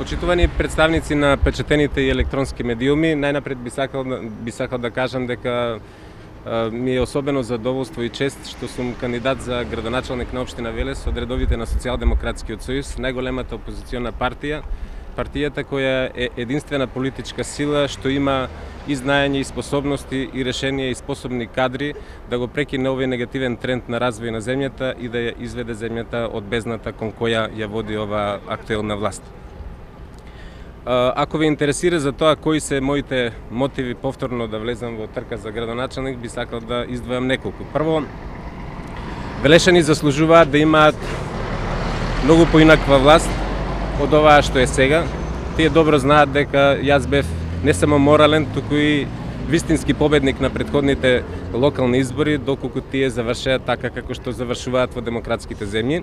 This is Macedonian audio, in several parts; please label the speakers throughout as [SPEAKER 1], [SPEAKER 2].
[SPEAKER 1] Почитувани представници на печатените и електронски медиуми, најнапред би сакал да кажам дека ми е особено задоволство и чест што сум кандидат за градоначалник на општина Велес од редовите на Социјалдемократскиот сојуз, најголемата опозициона партија, партијата која е единствена политичка сила што има и знаење и способности и решенија и способни кадри да го прекине овој негативен тренд на развој на земјата и да ја изведе земјата од бездната кон која ја води ова актуелна власт. Ако ве интересира за тоа кои се моите мотиви повторно да влезам во трка за градоначалник, би сакал да издвојам неколку. Прво, велешани заслужуваат да имаат многу поинаква власт од оваа што е сега. Тие добро знаат дека јас бев не само морален, туку и вистински победник на претходните локални избори, доколку тие завршеа така како што завршуваат во демократските земји.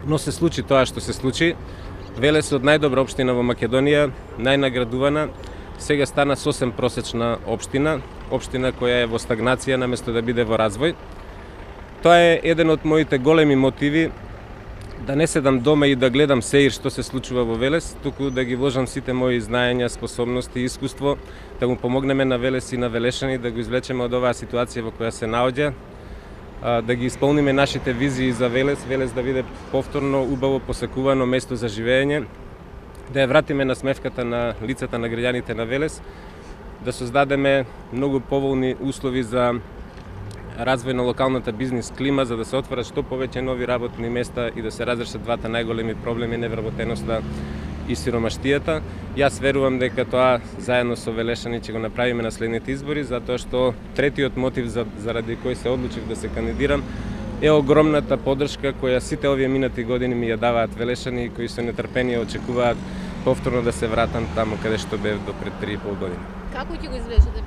[SPEAKER 1] Но се случи тоа што се случи. Велес од најдобра општина во Македонија, најнаградувана, сега стана сосем просечна општина, општина која е во стагнација наместо да биде во развој. Тоа е еден од моите големи мотиви да не седам дома и да гледам сеир што се случува во Велес, туку да ги вложам сите мои знаења, способности и искуство, да му помогнеме на Велес и на велешани да го извлечеме од оваа ситуација во која се наоѓа, да ги исполниме нашите визии за Велес, Велес да биде повторно убаво посекувано место за живење, да ја вратиме на смевката на лицата на граѓаните на Велес, да создадеме многу поволни услови за развој на локалната бизнис клима, за да се отворат што повеќе нови работни места и да се разрешат двата најголеми проблеми, невработеноста и сиромаштијата. Јас верувам дека тоа заедно со велешани ќе го направиме на следните избори, затоа што третиот мотив заради кој се одлучив да се кандидирам е огромната поддршка која сите овие минати години ми ја даваат велешани кои со нетрпение очекуваат повторно да се вратам таму каде што бев до пред 3,5 години.
[SPEAKER 2] Како ќе го извлечете